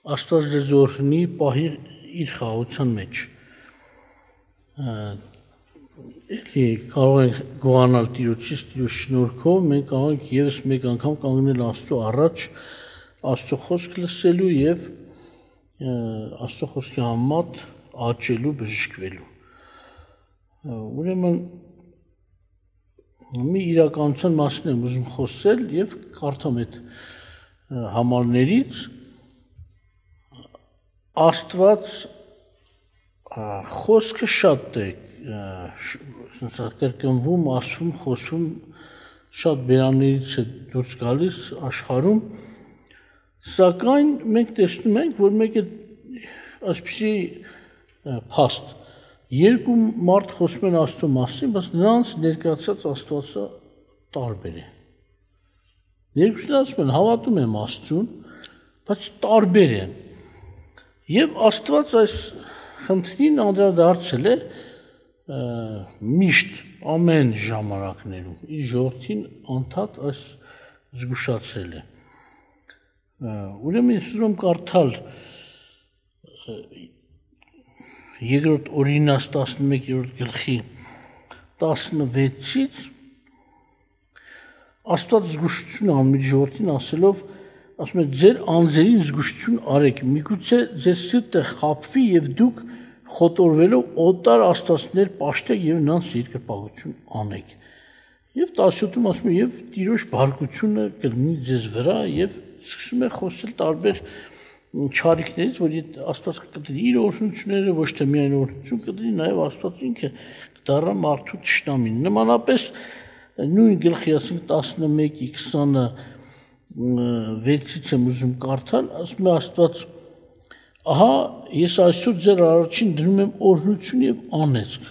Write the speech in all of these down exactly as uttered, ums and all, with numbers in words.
Աստված ձեզ օրհնի, պահի իր խաղաղության մեջ։ Էլի կարող ենք գոհանալ Տիրոջից, Տիրոջ շնորհքով, մենք կարող ենք ևս մեկ անգամ կանգնել Աստծո առաջ, Աստծո խոսք լսելու եւ Աստծո խոսքի համեմատ աճելու, բժշկվելու։ Ուրեմն մի իրականության մասին եմ ուզում խոսել եւ կարդամ այդ համարներից Աստված խոսքը շատ է կրկնվում, ասվում, խոսվում շատ բերաններից է դուրս գալիս աշխարհում, սակայն մենք տեսնում ենք, որ մեկ է այսպիսի փաստ երկու մարդ խոսում են Աստծո մասին, բայց նրանց ներկայացած Աստվածը տարբեր է։ Երկուսն ասում են հավատում եմ Աստծուն, բայց տարբեր են։ Եվ Աստված այս խնդրին անդրադարձել է միշտ ամեն ժամանակներում իր ժողովրդին անդադ այս զգուշացրել է։ Ուրեմն ես ուզում եմ կարդալ երկրորդ Օրինաց տասնմեկերորդ գլխի տասնվեցից Աստված զգուշություն անում իր ժողովրդին ասելով, ասում է ձեր անձերին զգուշություն արեք, միգուցե ձեր սիրտը խաբվի եւ դուք խոտորվելով օտար աստվածներ պաշտեք եւ նրանց երկրպագություն անեք։ Եվ տասնյոթում ասում է եւ Տիրոջ բարկությունը կլինի ձեզ վրա եւ սկսում է խոսել տարբեր չարիքներից, որ Աստված կտրի իր օրհնությունները, ոչ թե միայն օրհնություն կտրի, նաեւ Աստված ինքը կդառնա մարդու թշնամին։ Նմանապես նույն գլխի ասենք տասնմեկի քսանվեցից եմ ուզում կարդալ, ասում է Աստված ահա ես այսօր ձեր առաջին դնում եմ օրհնություն եւ անեծք։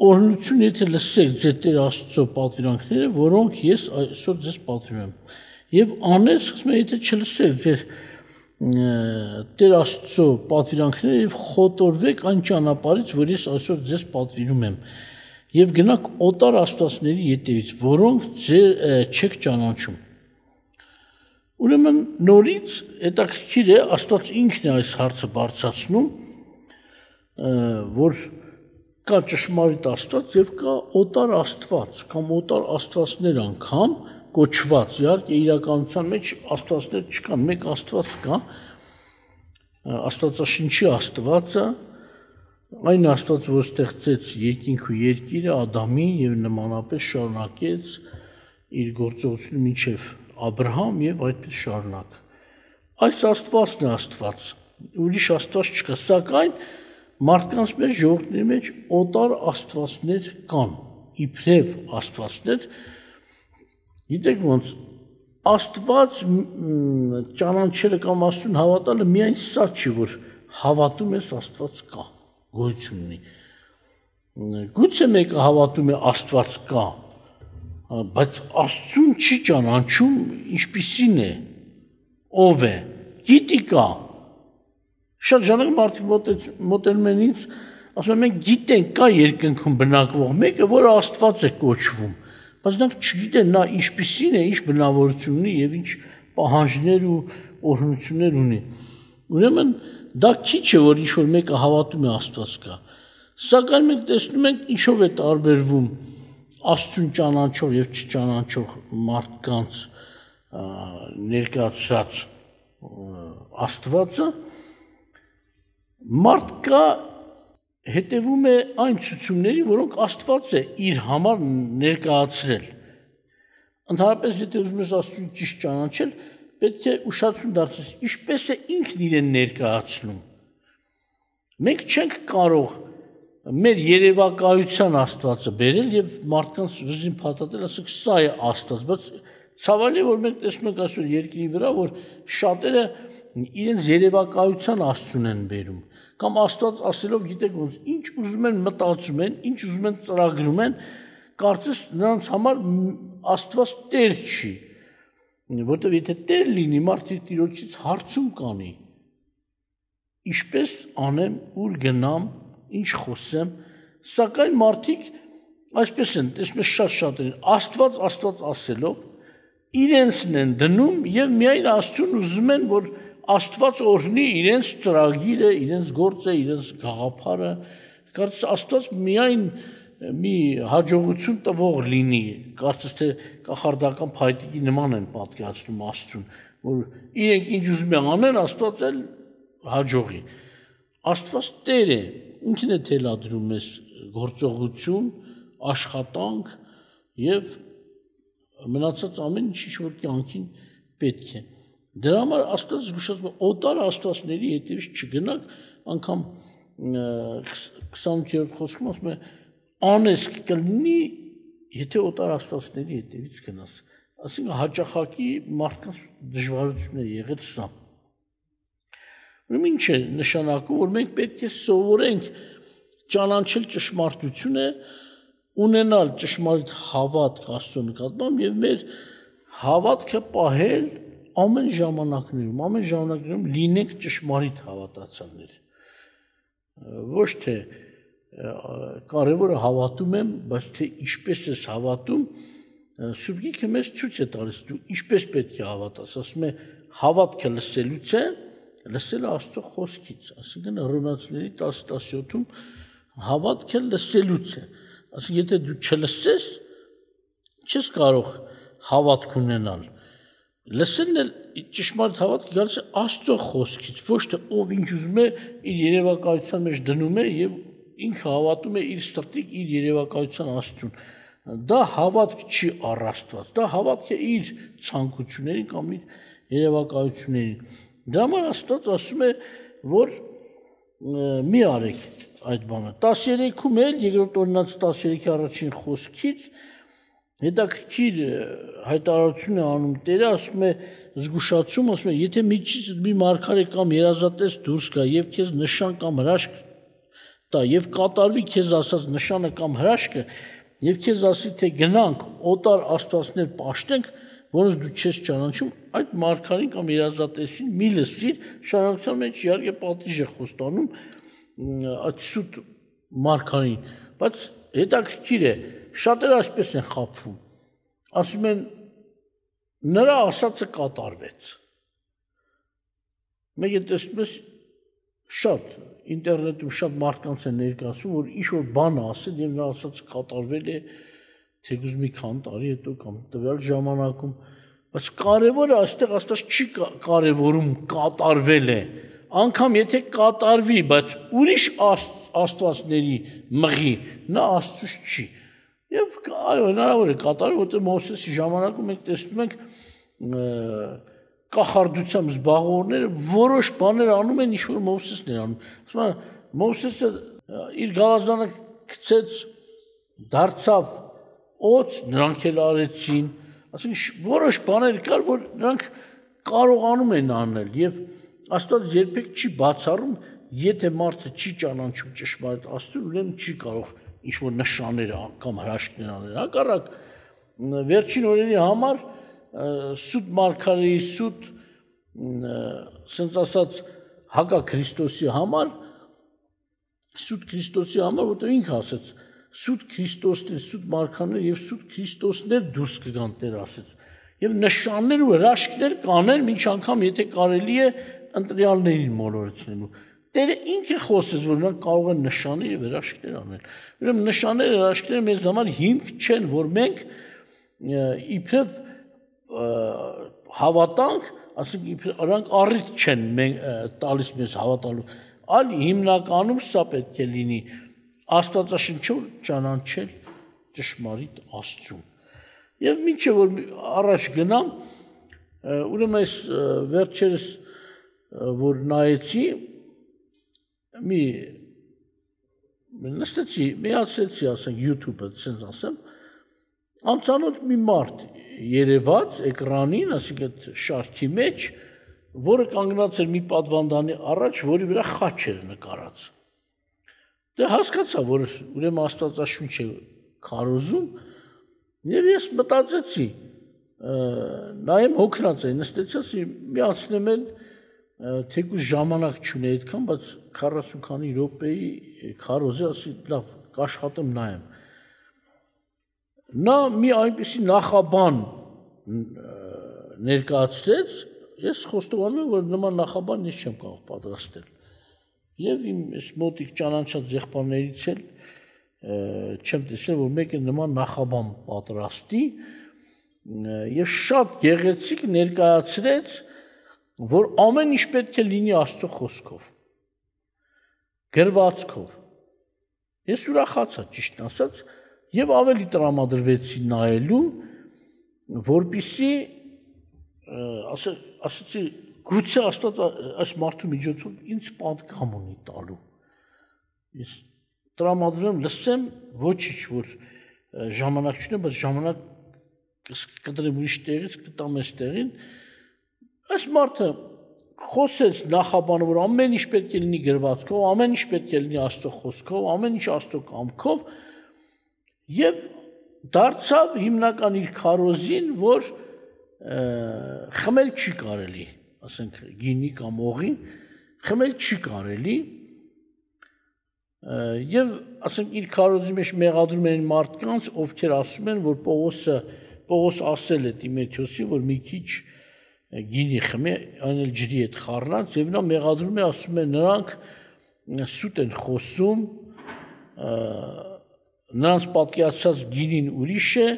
Օրհնություն եթե լսեք ձեր Տեր Աստծո պատվիրանքները, որոնք ես այսօր ձեզ պատվիրում եմ։ Եվ անեծք, ասում է, եթե չլսեք ձեր Տեր Աստծո պատվիրանքները եւ խոտորվեք այն ճանապարհից, որ ես այսօր ձեզ պատվիրում եմ։ Եվ գնաք օտար աստվածների ետևից, որոնք ձեր չեք ճանաչում։ Ուրեմն նորից հետաքրքիր է Աստված ինքն է այս հարցը բարձրացնում, որ կա ճշմարիտ Աստված եւ կա օտար Աստված, կամ օտար աստվածներ անգամ կոչված, իհարկե իրականության մեջ աստվածներ չկան, մեկ Աստված կա, Աստվածաշնչի Աստվածը, այն Աստված, որ ստեղծեց երկինք ու երկիրը Ադամին եւ նմանապես շարունակեց իր գործողությունը մինչեւ Աբրահամ եւ այդպես շարունակ։ Այս Աստվածն է Աստված, ուրիշ Աստված չկա, սակայն մարդկանց մեջ ժողովրդների մեջ օտար աստվածներ կան, իբրև աստվածներ, գիտեք ոնց Աստված ճանաչելը կամ Աստծուն հավատալը միայն սա չի, որ հավատում ես Աստված կա, գոյություն ունի։ Գուցե մեկը հավատում է Աստված կա, բայց Աստծուն չի ճանաչում ինչպիսին է, ով է, գիտի կա։ Շատ ժամանակ մարդիկ մոտենում են ինձ, ասում են մենք գիտենք կա երկնքում բնակվող մեկը, որը Աստված է կոչվում, բայց նրանք չգիտեն նա ինչպիսին է, ինչ բնավորություն ունի եւ ինչ պահանջներ ու օրհնություններ ունի։ Ուրեմն դա քիչ է, որ ինչ-որ մեկը հավատում է Աստված կա։ Սակայն մենք տեսնում ենք ինչով է տարբերվում Աստծուն ճանաչող եւ չճանաչող մարդկանց ներկայացած Աստվածը, մարդկա հետևում է այն ցուցումների, որոնք Աստված է իր համար ներկայացրել։ Ընդհանրապես, եթե ուզում ես Աստծուն ճիշտ ճանաչել, պետք է ուշադրություն դարձնես, ինչպես է ինքն իրեն ներկայացնում։ Մենք չենք կարող մեր երևակայության Աստվածը բերել եւ մարդկանց վզին փաթաթել, ասենք սա է Աստված, բայց ցավալի որ մենք տեսնում ենք այսօր երկրի վրա, որ շատերը իրենց երևակայության Աստծուն են բերում, կամ Աստված ասելով, գիտեք ոնց, ինչ ուզում են մտածում են, ինչ ուզում են ծրագրում են, կարծես նրանց համար Աստված Տեր չի, որտեղ եթե Տեր լինի, մարդը Տիրոջից հարցում կանի, ինչպես անեմ, ուր գնամ, ինչ խոսեմ, սակայն մարդիկ այսպես են, տեսնում ես շատ-շատ են, Աստված, Աստված ասելով, իրենցն են դնում եւ միայն Աստծուն ուզում են, որ Աստված օրհնի իրենց ծրագիրը, իրենց գործը, իրենց գաղափարը, կարծես Աստված միայն մի հաջողություն տվող լինի, կարծես թե կախարդական փայտիկի նման են պատկերացնում Աստծուն, որ իրենք ինչ ուզում են անեն, Աստված էլ հաջողի։ Աստված Տեր է, ինքն է թելադրում մեզ գործողություն, աշխատանք եւ մնացած ամեն ինչ որ կյանքին պետք է։ Դրա համար Աստված զգուշացնում է օտար աստվածների հետևից չգնաք, անգամ քսանութերորդ խոսքում ասում է անես կլինի, եթե օտար աստվածների հետևից գնաս։ Այսինքն հաճախակի մարդկանց դժվարություններ եղել սա։ Ուրեմն ինչ է նշանակում, որ մենք պետք է սովորենք ճանաչել ճշմարտությունը, ունենալ ճշմարիտ հավատք Աստծո նկատմամբ եւ մեր հավատքը պահել ամեն ժամանակներում, ամեն ժամանակներում լինենք ճշմարիտ հավատացյալներ։ Ոչ թե կարևորը հավատում եմ, բայց թե ինչպես ես հավատում, Սուրբ Գիրքը մեզ ցույց է տալիս դու ինչպես պետք է հավատաս, ասում է հավատքը լսելուց է, լսելը Աստծո խոսքից, այսինքն Հռոմեացիների տասը տասնյոթում հավատքը լսելուց է, այսինքն եթե դու չլսես, չես կարող հավատք ունենալ։ Լսելն էլ ճշմարիտ հավատքը գալիս է Աստծո խոսքից, ոչ թե ով ինչ ուզում է իր երևակայության մեջ դնում է եւ ինքը հավատում է իր սրտիկ իր երևակայության Աստծուն։ Դա հավատք չի առ Աստված, դա հավատք է իր ցանկություններին կամ իր երևակայություններին։ Դրա համար Աստված ասում է, որ մի արեք այդ բանը։ տասներեքում էլ երկրորդ օրինաց տասներեքի առաջին խոսքից հետաքրքիր հայտարարություն է անում Տերը, ասում է զգուշացում, ասում է, եթե միջից մի մարգարե կամ երազատես դուրս գա եւ քեզ նշան կամ հրաշք տա եւ կատարվի քեզ ասած նշանը կամ հրաշքը եւ քեզ ասի թե գնանք օտար աստվածներ պաշտենք, որոնց դու չես ճանաչում, այդ մարգարին կամ երազատեսին մի լսիր, շարունակության մեջ իհարկե պատիժ է խոստանում այդ սուտ մարգարին, բայց հետաքրքիր է, շատերը այսպես են խաբվում, ասում են նրա ասածը կատարվեց։ Մեկ է տեսնում ես շատ ինտերնետում շատ մարդկանց են ներկայացում, որ ինչ-որ բան ասել եւ նրա ասածը կատարվել է թեկուզ մի քանի տարի հետո կամ տվյալ ժամանակում, բայց կարևորը այստեղ Աստված չի կարևորում կատարվել է, անգամ եթե կատարվի, բայց ուրիշ աստվածների մղի, նա Աստծուց չի։ Եվ այո, հնարավոր է կատարել, որտեղ Մովսեսի ժամանակում մենք տեսնում ենք կախարդությամբ զբաղվողները որոշ բաներ անում են, ինչ որ Մովսեսն էր անում։ Ասում են, Մովսեսը իր գավազանը գցեց, դարձավ օծ, նրանք էլ արեցին, ասենք որոշ բաներ կար, որ նրանք կարողանում են անել եւ Աստված երբեք չի բացառում, եթե մարդը չի ճանաչում ճշմարիտ Աստծուն, ուրեմն չի կարող ինչ-որ նշաններ կամ հրաշքներ անել։ Հակառակ վերջին օրերի համար սուտ մարգարեի սուտ ասենց ասած հակա Քրիստոսի համար սուտ Քրիստոսի համար, որտեղ ինքը ասեց սուտ Քրիստոսներ, սուտ մարգարեներ եւ սուտ Քրիստոսներ դուրս կգան Տեր ասեց։ Եվ նշաններ ու հրաշքներ կանեն, մինչ անգամ եթե կարելի է ընտրյալներին մոլորեցնելու։ Տերը ինքը խոսեց, որ նրանք կարող են նշաններ եւ հրաշքներ անել։ Ուրեմն նշանները, հրաշքները մեզ համար հիմք չեն, որ մենք իբրև հավատանք, ասենք իբրև նրանք առիթ չեն տալիս մեզ հավատալու, այլ հիմնականում սա պետք է լինի Աստվածաշնչով ճանաչել ճշմարիտ Աստծուն։ Եվ մինչև որ առաջ գնամ, ուրեմն այս վերջերս որ նայեցի մի նստեցի, միացեցի, ասենք YouTube-ը, ասենց ասեմ, անծանոթ մի մարդ երևաց էկրանին, ասենք այդ շարքի մեջ, որը կանգնած էր մի պատվանդանի առաջ, որի վրա խաչ էր նկարած։ Դե հասկացա, որ ուրեմն Աստվածաշունչ է քարոզում, եւ ես մտածեցի, նայեմ հոգնած էի, նստեցի, ասի միացնեմ էլ թեկուզ ժամանակ չունի այդքան, բայց քառասուն քանի րոպեի քարոզի, ասի լավ, կաշխատեմ նայեմ։ Նա մի այնպիսի նախաբան ներկայացրեց, ես խոստովանում եմ, որ նման նախաբան ես չեմ կարող պատրաստել։ Եվ իմ այս մոտիկ ճանաչած եղբայրներից էլ չեմ տեսել, որ մեկը նման նախաբան պատրաստի եւ շատ գեղեցիկ ներկայացրեց, որ ամեն ինչ պետք է լինի Աստծո խոսքով, գրվածքով։ Ես ուրախացա, ճիշտն ասած, եւ ավելի տրամադրվեցի նայելու, որպիսի ասացի գուցե Աստված այս մարդու միջոցով ինձ պատգամ ունի տալու։ Ես տրամադրեմ, լսեմ, ոչինչ, որ ժամանակ չունեմ, բայց ժամանակ կտրեմ ուրիշ տեղից, կտամ այս տեղին։ Այս մարդը խոսեց նախաբանը, որ ամեն ինչ պետք է լինի գրվածքով, ամեն ինչ պետք է լինի Աստծո խոսքով, ամեն ինչ Աստծո կամքով, եւ դարձավ հիմնական իր քարոզին, որ խմել չի կարելի, ասենք գինի կամ օղի, խմել չի կարելի, եւ ասենք իր քարոզի մեջ մեղադրում են մարդկանց, ովքեր ասում են, որ Պողոսը Պողոս ասել է Տիմոթեոսին, որ մի քիչ գինի խմի, այն էլ ջրի հետ խառնած, եւ նա մեղադրում է, ասում է նրանք սուտ են խոսում, նրանց պատկերացած գինին ուրիշ է,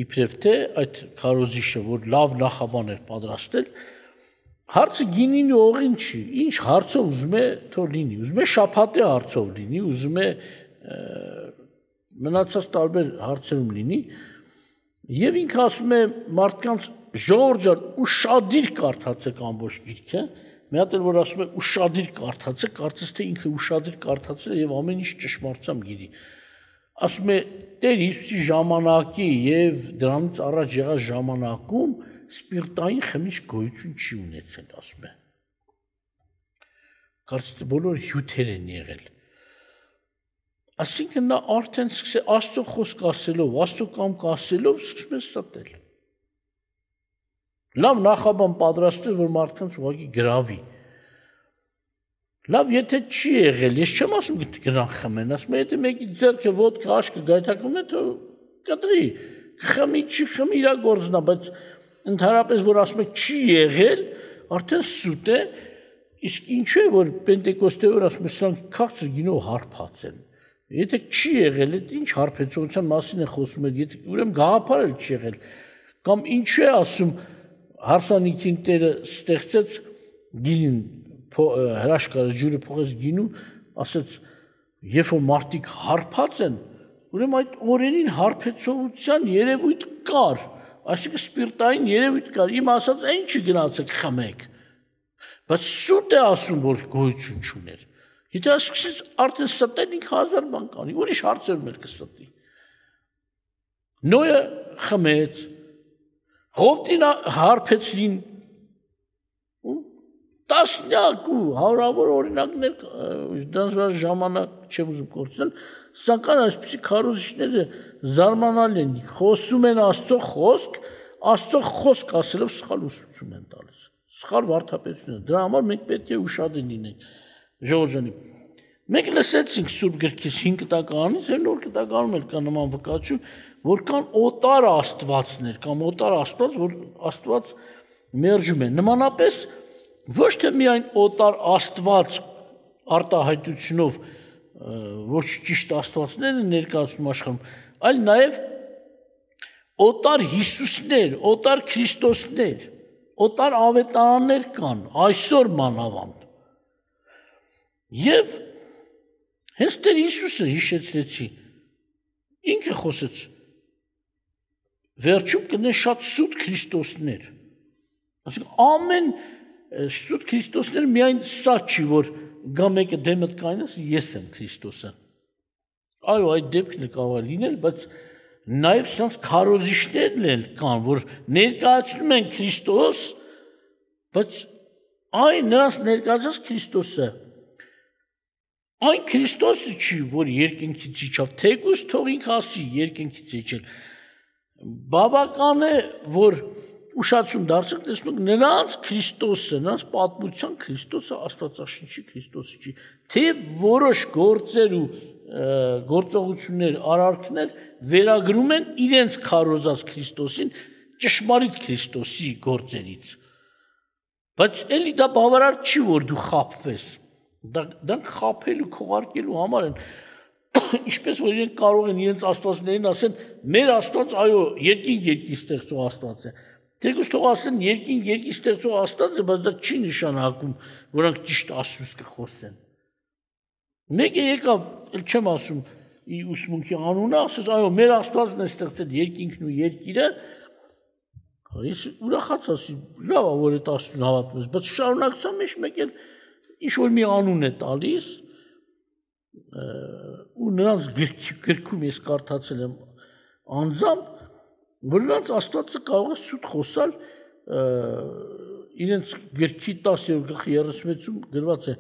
իբրև թե այդ քարոզիչը, որ լավ նախաբան էր պատրաստել, հարցը գինին ու օղին չի, ինչ հարցով ուզում է թող լինի, ուզում է շաբաթի հարցով լինի, ուզում է մնացած տարբեր հարցերում լինի, եւ ինքը ասում է մարդկանց ժողովուրդ ջան, ուշադիր կարդացեք ամբողջ գիրքը, մի հատ էլ որ ասում է ուշադիր կարդացեք, կարծես թե ինքը ուշադիր կարդացել է եւ ամեն ինչ ճշմարտությամբ գիտի։ Ասում է Տեր Հիսուսի ժամանակի եւ դրանից առաջ եղած ժամանակում սպիրտային խմիչք գոյություն չի ունեցել, ասում է։ Կարծես թե բոլոր հյութեր են եղել։ Այսինքն նա արդեն սկսել Աստծո խոսք ասելով, Աստծո կամք ասելով սկսում է ստել։ Լավ նախաբան պատրաստել, որ մարդկանց ուղղակի գրավի։ Լավ, եթե չի եղել, ես չեմ ասում գտի գնան խմեն, ասում եմ, եթե մեկի ձեռքը ոդկա աշկը գայթակղում է, թող կտրի, խմի, չի խմի, իր գործն է, բայց ընդհանրապես որ ասում եք չի եղել, արդեն սուտ է, իսկ ինչու է որ Պենտեկոստե օր ասում են, սրանք քաղցր գինով հարբած են։ Եթե չի եղել, ինչ հարբեցողության մասին է խոսում եք, եթե ուրեմն գաղափար էլ չի եղել, կամ ինչու է ասում հարսանիքին Տերը ստեղծեց գինին հրաշքարը ջուրը փոխեց գինու, ասեց, երբ որ մարդիկ հարբած են, ուրեմն այդ օրերին հարբեցողության երևույթ կար, այսինքն սպիրտային երևույթ կար, իմ ասած այն չի գնացեք խմեք, բայց սուտ է ասում, որ գոյություն չուներ։ Եթե սկսեց արդեն ստել ինքը հազար բան կանի, ուրիշ հարցերում էլ կստի։ Նոյը խմեց, Ղովտին հարբեցրին, տասնյակ ու հարավոր օրինակներ, դրանց վրա ժամանակ չեմ ուզում կորցնել, սակայն այսպիսի քարոզիչները զարմանալի են, խոսում են Աստծո խոսք, Աստծո խոսք ասելով սխալ ուսուցում են տալիս, սխալ վարդապետություն են, դրա համար մենք պետք է ուշադիր լինենք, ժողովուրդ ջան, մենք լսեցինք Սուրբ գրքից հինգ տականից, եւ նոր տականում էլ կա նման վկայություն, որ կան օտար աստվածներ, կամ օտար աստված, որ Աստված մերժում է, նմանապես ոչ թե միայն օտար աստված արտահայտությունով, ոչ ճիշտ աստվածներ են ներկայացնում աշխարհում, այլ նաև օտար Հիսուսներ, օտար Քրիստոսներ, օտար ավետարաններ կան, այսօր մանավանդ։ Եվ հենց Տեր Հիսուսը հիշեցրեցի, ինքը խոսեց, վերջում կնեն շատ սուտ Քրիստոսներ, այսինքն ամեն սուտ Քրիստոսներ միայն սա չի, որ գա մեկը դեմդ կայնես, ես եմ Քրիստոսը, այո, այդ դեպքն է կարող լինել, բայց նաև սրանց քարոզիչներն էլ կան, որ ներկայացնում են Քրիստոս, բայց այն նրանց ներկայացած Քրիստոսը, այն Քրիստոսը չի, որ երկնքից իջավ, թեկուզ թող ինքը ասի երկնքից իջել, բավական է, որ ուշացում դարձեք, տեսնուք նրանց Քրիստոսը, նրանց պատմության Քրիստոսը Աստվածաշնչի Քրիստոսը չի, թե որոշ գործեր ու գործողություններ, արարքներ վերագրում են իրենց քարոզած Քրիստոսին ճշմարիտ Քրիստոսի գործերից։ Բայց էլի դա բավարար չի, որ դու խաբվես։ Դրանք խաբելու, քողարկելու համար են, ինչպես որ իրենք կարող են իրենց աստվածներին ասեն, մեր Աստված, այո, երկինք երկիր ստեղծող Աստված է։ Թեկուզ թող ասեն երկինք երկիր ստեղծող Աստված է, բայց դա չի նշանակում, որ նրանք ճիշտ Աստծուց կխոսեն։ Մեկը եկավ, էլ չեմ ասում, իր ուսմունքի անունը, ասես, այո, մեր Աստվածն է ստեղծել երկինքն ու երկիրը, ես ուրախաց ասի, լավ է, որ այդ Աստծուն հավատում ես, բայց շարունակության մեջ մեկ էլ ինչ-որ մի անուն է տալիս, ու նրանց գրքում ես կարդացել եմ անձամբ, որ նրանց Աստվածը կարող է սուտ խոսալ, իրենց գրքի տասերորդ գլխի երեսունվեցում գրված է,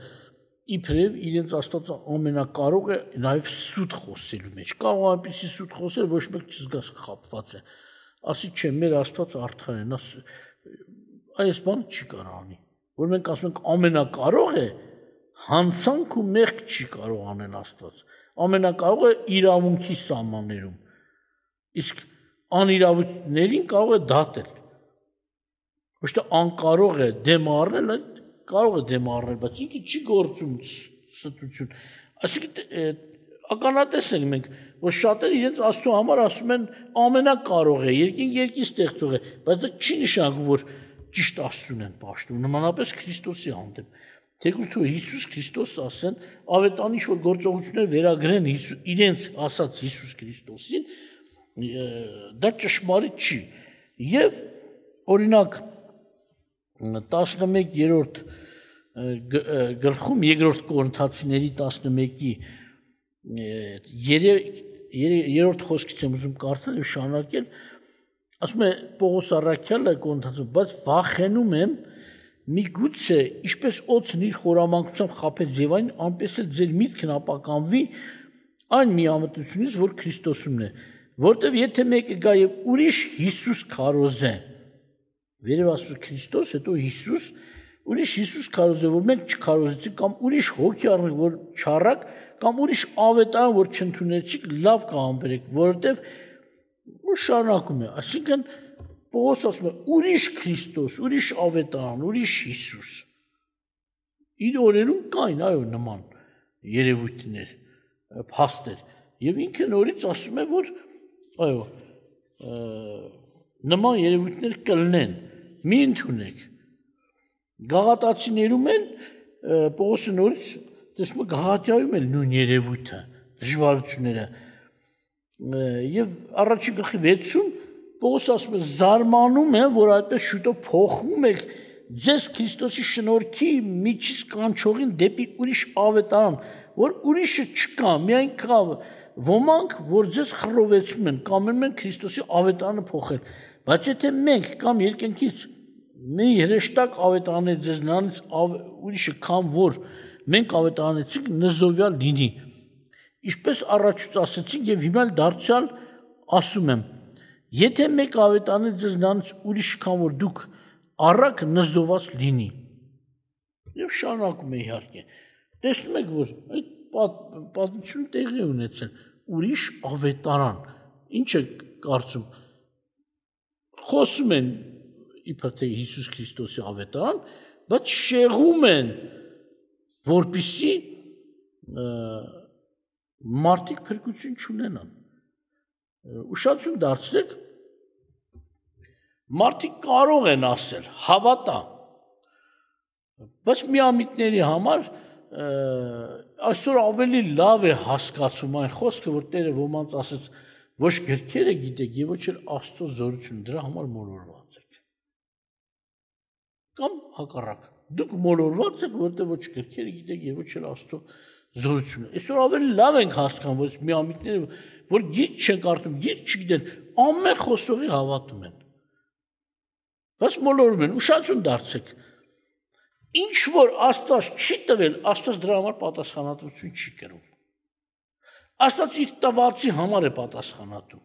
իբրև իրենց Աստվածը ամենակարող է նաև սուտ խոսելու մեջ, կարող է այնպիսի սուտ խոսել, ոչ մեկ չզգաս խաբված է, ասի չէ, մեր Աստվածը արդար է, այս բանը չի կարող անի, որ մենք ասում ենք ամենակարող է, հանցանք ու մեղք չի կարող անել Աստված, ամենակարող է իրավունքի սահմաններում, իսկ անիրավություններին կարող է դատել, ոչ թե անկարող է դեմ առնել, կարող է դեմ առնել, բայց ինքը չի գործում ստություն, այսինքն ականատես ենք մենք, որ շատերը իրենց Աստծո համար ասում են ամենակարող է, երկինք երկիր ստեղծող է, բայց դա չի նշանակում, որ ճիշտ Աստծուն են պաշտում, նմանապես Քրիստոսի հանդեպ։ Թեկուզ թող Հիսուս Քրիստոս ասեն, ավետարան ինչ որ գործողություններ վերագրեն իրենց ասած Հիսուս Քրիստոսին, դա ճշմարիտ չի։ Եվ օրինակ տասնմեկերորդ գլխում երկրորդ Կորինթացիների տասնմեկի երրորդ խոսքից եմ ուզում կարդալ եւ շարունակել, ասում է Պողոս առաքյալը Կորինթացիներին, բայց վախենում եմ միգուցե ինչպես օձն իր խորամանկությամբ խաբեց Եվային, այնպես էլ ձեր միտքն ապականվի այն միամտությունից, որ Քրիստոսումն է, որտեվ եթե մեկը գա եւ ուրիշ Հիսուս քարոզե, վերև ասում Քրիստոս, հետո Հիսուս, ուրիշ Հիսուս քարոզե, որ մենք չքարոզեցինք կամ ուրիշ հոգի առնենք, որ չառակ, կամ ուրիշ ավետարան, որ չընդունեցիք, լավ կհամբերեք, որովհետև ու շարունակում է, այսինքն Պողոս ասում է ուրիշ Քրիստոս, ուրիշ ավետարան, ուրիշ Հիսուս։ Իր օրերում կային, այո, նման երևույթներ, փաստեր, եւ ինքը նորից ասում է, որ այո, նման երևույթներ կլինեն, մի ընդունեք։ Գաղատացիներում են Պողոսը նորից տեսնում Գաղատիայում էլ նույն երևույթը, դժվարությունները։ Եվ առաջին գլխի վեցում Պողոսը ասում է զարմանում եմ, որ այդպես շուտով փոխվում եք ձեզ Քրիստոսի շնորհքի միջից կանչողին դեպի ուրիշ ավետարան, որ ուրիշը չկա, միայն կա ոմանք, որ ձեզ խռովեցնում են, կամենում են Քրիստոսի ավետարանը փոխել։ Բայց եթե մենք կամ երկնքից մի հրեշտակ ավետարան է ձեզ նրանից ուրիշը կամ որ մենք ավետարանեցինք նզովյալ լինի։ Ինչպես առաջուց ասեցինք եւ հիմա դարձյալ ասում եմ, եթե մեկ ավետարան է ձեզ նրանից ուրիշ կամ որ դուք առակ նզոված լինի։ Եվ շարունակում է իհարկե։ Տեսնում եք, որ այդ պատմությունը տեղի ունեցել ուրիշ ավետարան։ Ինչ է կարծում։ Խոսում են իբր թե Հիսուս Քրիստոսի ավետարան, բայց շեղում են, որպեսզի մարդիկ փրկություն չունենան։ Ուշադրություն դարձրեք, մարդիկ կարող են ասել, հավատա, բայց միամիտների համար այսօր ավելի լավ է հասկացում այն խոսքը, որ Տերը ոմանց ասեց, ոչ գրքերը գիտեք եւ ոչ էլ Աստծո զորությունը, դրա համար մոլորված եք։ Կամ հակառակ, դուք մոլորված եք, որտեղ ոչ գրքերը գիտեք եւ ոչ էլ Աստծո զորությունը։ Այսօր ավելի լավ ենք հասկանում, որ միամիտները, որ գիրք չեն կարդում, գիրք չգիտեն, ամեն խոսողի հավատում են։ Բայց մոլորում են, ուշադրություն դարձեք։ Ինչ որ Աստված չի տվել, Աստված դրա համար պատասխանատվություն չի կրում։ Աստված իր տվածի համար է պատասխանատու։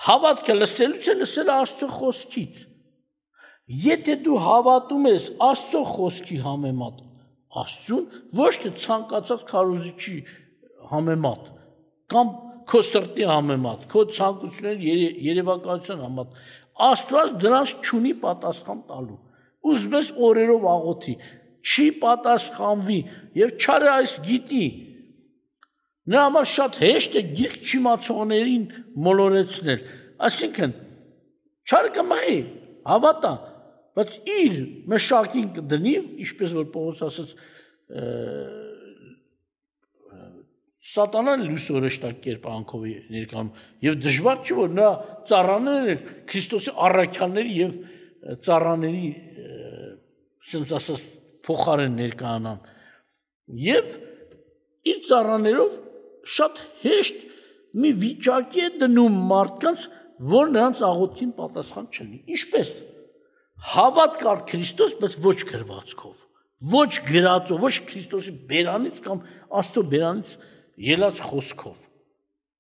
Հավատքը լսելուց է լսել Աստծո խոսքից։ Եթե դու հավատում ես Աստծո խոսքի համեմատ Աստծուն, ոչ թե ցանկացած քարոզիչի համեմատ կամ քո սրտի համեմատ, քո ցանկությունների երևակայության համեմատ, Աստված դրանց չունի պատասխան տալու։ ուզում ես օրերով աղոթի, չի պատասխանվի եւ չարը այս գիտի։ Նրա համար շատ հեշտ է գիրք չիմացողներին մոլորեցնել, այսինքն չարը կմղի, հավատա, բայց իր մշակին կդնի, ինչպես որ Պողոս ասաց, Սատանան լույս օրեշտակ կերպանքով է ներկայանում եւ դժվար չի որ նրա ծառաները Քրիստոսի առաքյալների եւ ծառաների sense ասած փոխարեն ներկայանան եւ իր ծառաներով շատ հեշտ մի վիճակի է դնում մարդկանց, որ նրանց աղոթքին պատասխան չլինի։ Ինչպես հավատ կար Քրիստոս, բայց ոչ գրվածքով, ոչ գրածով, ոչ Քրիստոսի բերանից կամ Աստծո բերանից ելած խոսքով։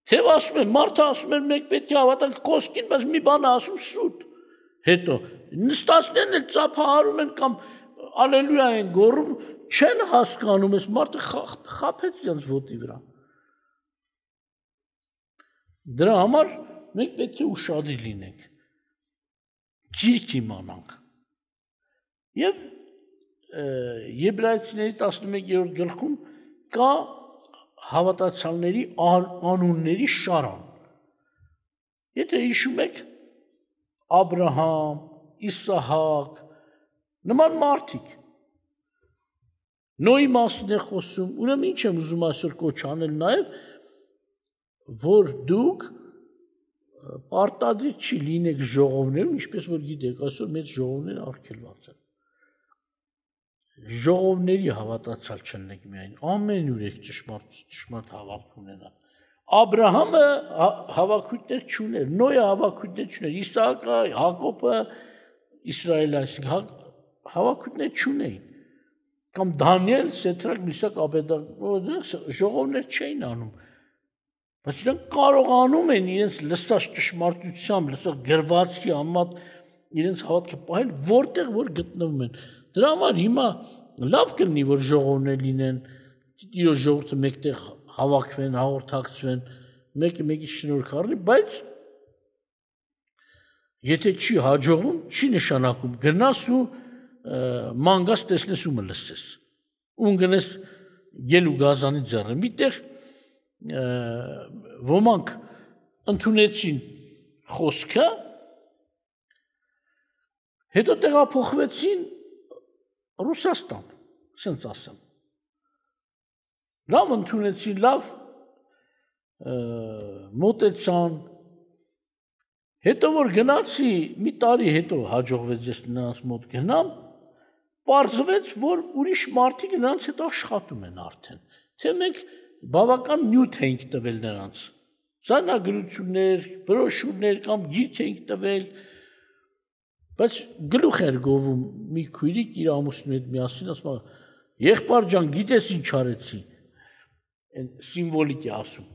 Թե ասում են, մարդը ասում են, մենք պետք է հավատանք խոսքին, բայց մի բան ասում սուտ։ Հետո նստածներն էլ ծափահարում են կամ ալելույա են գոռում, չեն հասկանում, այս մարդը խաբեց իրենց ոտի վրա։ Դրա համար մենք պետք է ուշադիր լինենք, գիրք իմանանք։ Եվ Եբրայեցիների տասնմեկերորդ գլխում կա հավատացյալների անունների շարան։ Եթե հիշում եք Աբրահամ, Իսահակ, նման մարդիկ։ Նոյի մասին է խոսում, ուրեմն ինչ եմ ուզում այսօր կոչ անել նաև, որ դուք պարտադիր չի լինեք ժողովներում, ինչպես որ գիտեք, այսօր մեծ ժողովներ արգելված են։ Ժողովների հավատացյալ չլինեք միայն, ամենուր եք ճշմարտ ճշմարտ հավատք ունենալ։ Աբրահամը հավաքույտներ չուներ, Նոյը հավաքույտներ չուներ, Իսահակը, Հակոբը, Իսրայելը, այսինքն հավաքույտներ չունեին։ Կամ Դանիել, Սեդրակ, Միսակ, Աբեդնագո ժողովներ չէին անում։ Բայց իրենք կարողանում են իրենց լսած ճշմարտությամբ, լսած գրվածքի համեմատ իրենց հավատքը պահել, որտեղ որ գտնվում են։ Դրա համար հիմա լավ կլինի, որ ժողովներ լինեն, Տիրոջ ժողովուրդը մեկտեղ հավաքվեն, հաղորդակցվեն, մեկը մեկից շնորհք առնի, բայց եթե չի հաջողվում, չի նշանակում գնաս ու մանգաս տեսնես ու մլսես։ Ուն գնես գել ու գազանի ձեռը։ Միտեղ ոմանք ընդունեցին խոսքը, հետո տեղափոխվեցին Ռուսաստան, ասենց ասեմ։ Լավ ընդունեցին, լավ մոտեցան։ Հետո որ գնացի, մի տարի հետո հաջողվեց ես նրանց մոտ գնամ, պարզվեց, որ ուրիշ մարդիկ նրանց հետ աշխատում են արդեն։ Թե մենք բավական նյութ էինք տվել նրանց։ Ձայնագրություններ, բրոշուրներ կամ գիրք էինք տվել, բայց գլուխ էր գովում մի քույրիկ իր ամուսնու հետ միասին, ասում է, եղբայր ջան, գիտես ինչ արեցի, սիմվոլիկ է ասում,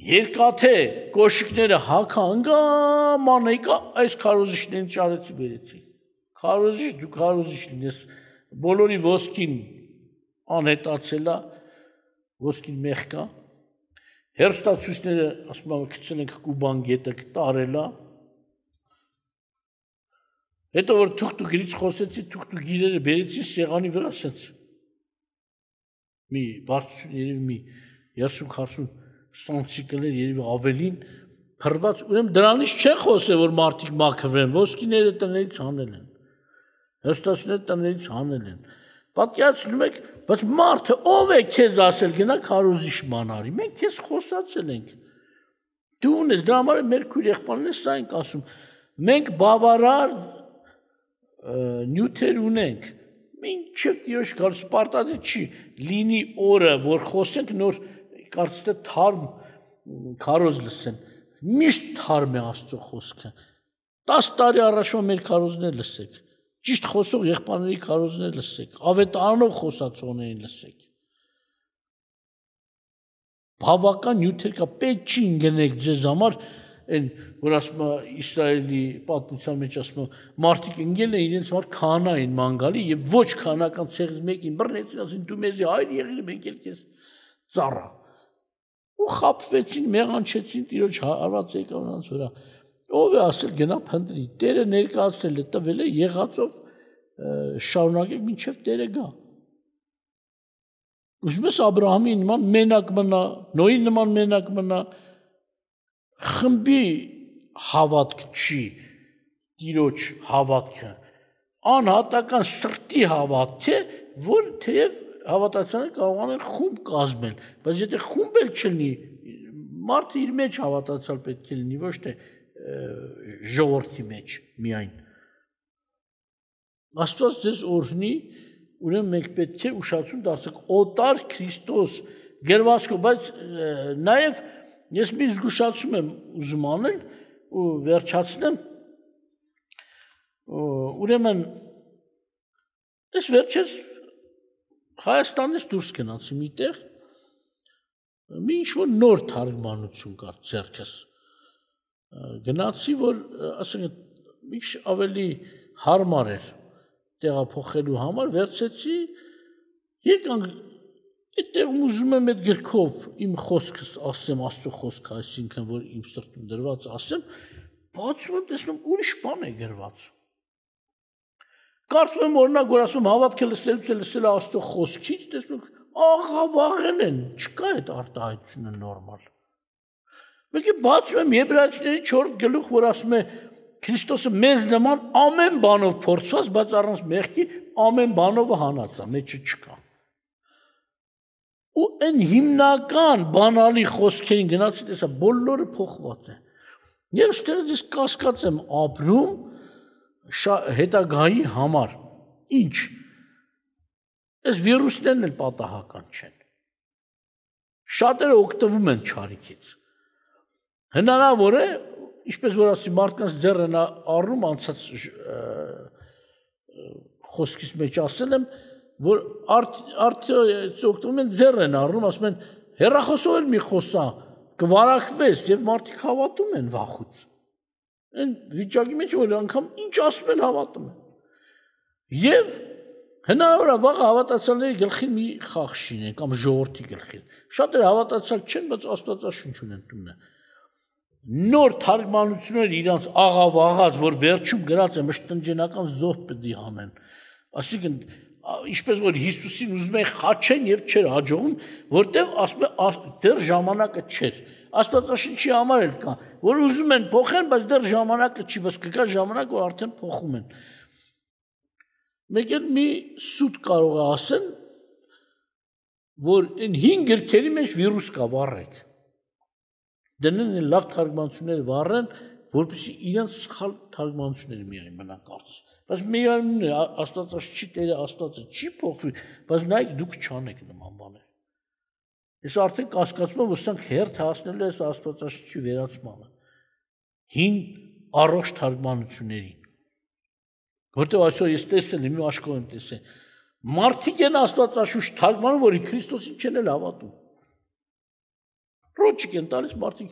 երկաթե կոշիկները հագանգամ անեկա, այս քարոզիչներին ճարեցի բերեցի, քարոզիչ, դու քարոզիչ լինես, բոլորի ոսկին անհետացել է, ոսկին մեղք է, հեռուստացույցները, ասում եմ, գցել ենք Կուբան գետը տարել է, հետո որ թուղթուգիրից խոսեցի, թուղթուգիրերը բերեցի սեղանի վրա, ասենց մի բարձություն երևի մի երեսուն-քառասուն սանտիկլներ երևի ավելին փռված, ուրեմն դրանից չեն խոսել, որ մարդիկ մաքրվեն, ոսկիները տներից հանել են, հեռուստացույցները տներից հանել են։ Պատկերացնում եք, բայց մարդը ով է քեզ ասել գնա քարոզիչ մանարի, մենք քեզ խոսացել ենք։ Դու ունես, դրա համար մեր քույր եղբայրն է սա ենք ասում, մենք բավարար նյութեր ունենք, մինչև Տիրոջ գալուց պարտադիր չի լինի օրը, որ խոսենք նոր կարծես թե թարմ քարոզ լսեն, միշտ թարմ է Աստծո խոսքը, տաս տարի առաջվա մեր քարոզներ լսեք, ճիշտ խոսող եղբայրների քարոզներ լսեք, ավետարանով խոսացողներին լսեք, բավական նյութեր կա, պետք չի ընկնեք ձեզ համար, այն որ ասում է Իսրայելի պատմության մեջ ասում է մարդիկ ընկել են իրենց համար քահանա են մանգալի եւ ոչ քահանական ցեղից մեկին բռնեցին, ասին դու մեզի հայր եղիր, մենք էլ քեզ ծառա։ Ու խաբվեցին, մեղանչեցին Տիրոջ հարված եկավ նրանց վրա։ Ով է ասել գնա փնտրի, Տերը ներկայացրել է, տվել է եղածով շարունակեք մինչև Տերը գա։ Ուզում ես Աբրահամի նման մենակ մնա, Նոյի նման մենակ մնա, խմբի հավատք չի, Տիրոջ հավատքը, անհատական սրտի հավատք է, որ թեև հավատացյալները կարող են խումբ կազմել, բայց եթե խումբ էլ չլինի, մարդը իր մեջ հավատացյալ պետք է լինի, ոչ թե ժողովրդի մեջ միայն։ Աստված ձեզ օրհնի, ուրեմն մենք պետք է ուշադրություն դարձնենք օտար Քրիստոս գրվածքով, բայց նաև ես մի զգուշացում եմ ուզում անել ու վերջացնեմ, ուրեմն ես վերջերս Հայաստանից դուրս գնացի միտեղ, մի ինչ-որ նոր թարգմանություն կար ձեռքս, գնացի, որ ասենք մի քիչ ավելի հարմար էր տեղափոխելու համար, վերցեցի, եկանք այդտեղ ուզում եմ այդ գրքով իմ խոսքս ասեմ, Աստծո խոսքը, այսինքն որ իմ սրտում դրված ասեմ, բացում եմ, տեսնում ուրիշ բան է գրված։ Կարծում եմ օրինակ, որ ասում հավատքը լսելուց է լսել Աստծո խոսքից, տեսնում աղավաղել են, չկա այդ արտահայտությունը նորմալ։ Մեկը բացում եմ Եբրայեցիների չորրորդ գլուխ, որ ասում է Քրիստոսը մեզ նման ամեն բանով փորձված, բայց առանց մեղքի ամեն բանով հանած է, մեջը չկա։ Ու այն հիմնական բանալի խոսքերին գնացի, տեսա, բոլորը փոխված է։ Ես ստեղից ես կասկած եմ ապրում հետագայի համար, ինչ, այս վիրուսներն էլ պատահական չեն, շատերը օգտվում են չարիքից, հնարավոր է, ինչպես որ ասի մարդկանց ձեռ են առնում, անցած խոսքիս մեջ ասել եմ, որ արդյոք օգտվում են ձեռ են առնում, ասում են, հեռախոսով էլ մի խոսա, կվարակվես և մարդիկ հավատում են վախուց, այն վիճակի մեջ, որ անգամ ինչ ասում են հավատում են, և հնարավոր է վաղը հավատացյալների գլխին մի խաղ շինեն, կամ ժողովրդի գլխին, շատերը հավատացյալ չեն, բայց աստվածաշունչ ունեն տունը, նոր թարգմանություններ իրանց աղավաղած, որ վերջում գրած է մշտնջենական զոհ պետք է հանեն, այսինքն ինչպես որ Հիսուսին ուզում են խաչեն և չէր հաջողում, որտեղ ասում է դեռ ժամանակը չէր, աստվածաշնչի համար էլ կա, որ ուզում են փոխեն, բայց դեռ ժամանակը չի, բայց կգա ժամանակ, որ արդեն փոխում են։ Մեկ էլ մի սուտ կարող է ասեն, որ այն հին գրքերի մեջ վիրուս կա, վառեք, դնեն են լավ թարգմանությունները վառեն, որպեսզի իրենց սխալ թարգմանությունները միայն մնա կարծես, բայց միայն աստվածաշնչի Տերը Աստվածը չի փոխվի, բայց նայեք դուք չանեք նման բաներ։ Ես արդեն կասկածում եմ, որ սրանք հերթ հասնելու է աստվածաշնչի վերացմանը, հին առողջ թարգմանություններին, որտեղ այսօր ես տեսել եմ, իմ աշխով եմ տեսել, մարդիկ են աստվածաշունչ թարգմանում, որի Քրիստոսին չեն էլ հավատում, ռոճիկ են տալիս մարդիկ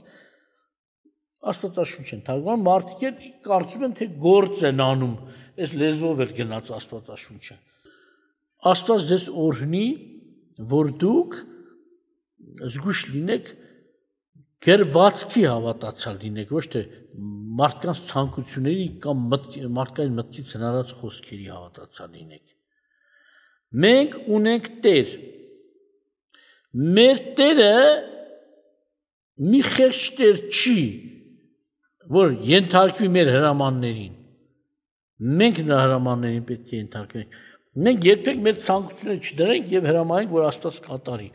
աստվածաշունչ են թարգմանում, մարդիկ են կարծում են, թե գործ են անում, այս լեզվով էլ գնաց աստվածաշունչը։ Աստված ձեզ օրհնի, որ դուք զգույշ լինեք, գրվածքի հավատացյալ լինեք, ոչ թե մարդկանց ցանկությունների կամ մարդկային մտքից հնարած խոսքերի հավատացյալ լինեք։ Մենք ունենք Տեր։ Մեր Տերը մի խեղճ Տեր չի, որ ենթարկվի մեր հրամաններին։ Մենք նրա հրամաններին պետք է ենթարկվենք։ Մենք երբեք մեր ցանկությունները չդրենք և հրամանենք, որ Աստված կատարի։